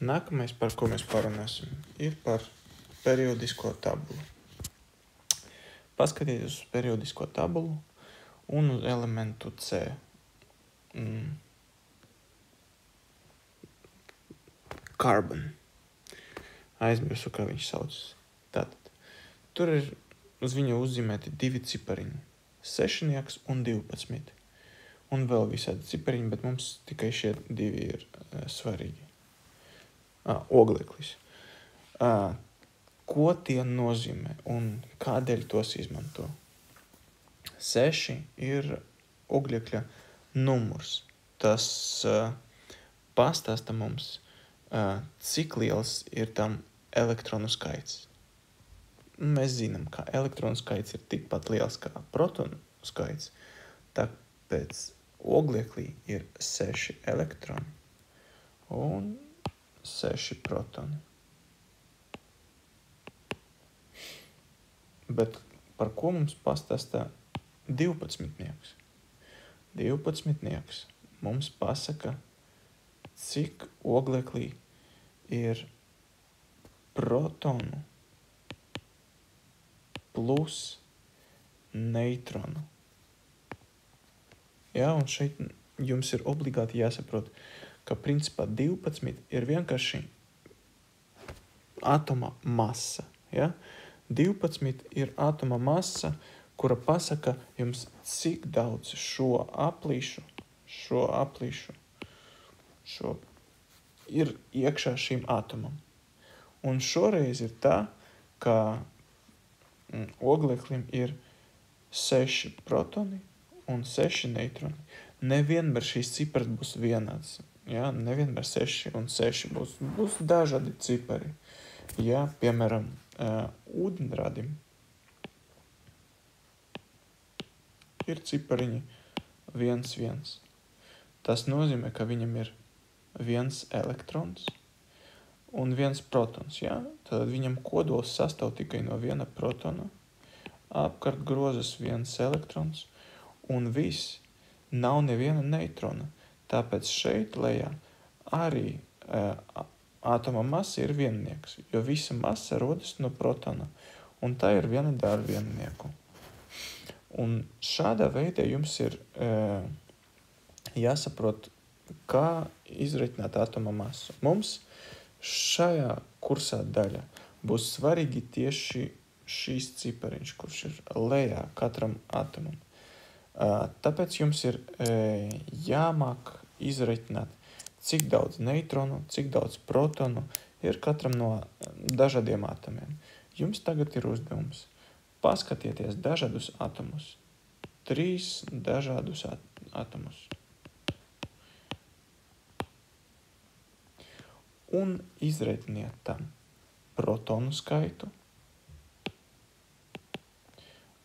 Nākamais, par ko mēs parunāsim, ir par periodisko tabulu. Paskatieties uz periodisko tabulu un uz elementu C. Carbon. Aizmirsu, kā viņš saucas. Tātad, tur ir uz viņa uzzīmēti 2 cipariņi. 6 un 12. Un vēl visādi cipariņi, bet mums tikai šie 2 ir svarīgi. Ogleklis. Ko tie nozīmē un kādēļ tos izmanto? 6 ir oglekļa numurs. Tas pastāsta mums, cik liels ir tam elektronu skaits. Mēs zinām, ka elektronu skaits ir tikpat liels kā protonu skaits, tāpēc ogleklī ir 6 elektroni un 6 protoni. Bet par ko mums pastāsta 12-nieks? 12-nieks mums pasaka, cik ogleklī ir protonu plus neitronu. Jā, un šeit jums ir obligāti jāsaprot, ka principā 12 ir vienkārši atoma masa. Ja? 12 ir atoma masa, kura pasaka jums, cik daudz šo aplīšu ir iekšā šīm atomam. Un šoreiz ir tā, ka ogleklim ir 6 protoni un 6 neitroni. Nevienmēr šīs cipars būs vienāds. Ja? Nevienmēr 6 un 6 būs dažādi cipari. Ja? Piemēram, ūdenradim ir cipariņi 1, 1. Tas nozīmē, ka viņam ir 1 elektrons un 1 protons. Ja? Tad viņam kodols sastāv tikai no 1 protona, apkārt grozas 1 elektrons un viss. Nav neviena neitrona. Tāpēc šeit lejā arī atoma masa ir viennieks, jo visa masa rodas no protona, un tā ir viena ar viennieku. Un šādā veidā jums ir jāsaprot, kā izreikināt atoma masu. Mums šajā kursā daļā būs svarīgi tieši šīs cipariņš, kurš ir lejā katram atomam. Tāpēc jums ir jāmāk izreikināt, cik daudz neitronu, cik daudz protonu ir katram no dažādiem atomiem. Jums tagad ir uzdevums. Paskatieties dažādus atomus. 3 dažādus atomus. Un izreikiniet tam protonu skaitu.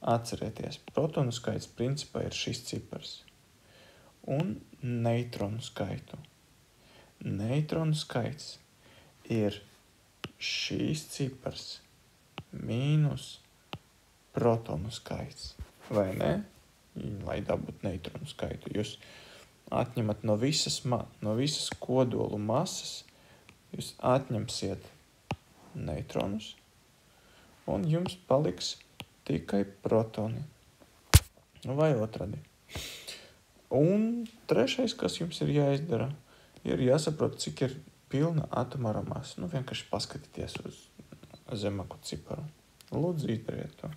Atcerieties, protonu skaits principā ir šis cipars. Un neitronu skaitu. Neitronu skaits ir šīs cipars mīnus protonu skaits. Vai ne? Lai dabūtu neitronu skaitu. Jūs atņemat no visas kodolu masas, jūs atņemsiet neitronus, un jums paliks tikai protoni. Vai otrādi. Un trešais, kas jums ir jāizdara, ir jāsaprot, cik ir pilna atomāra masa. Vienkārši paskatieties uz zemāku ciparu. Lūdzu, izdariet to.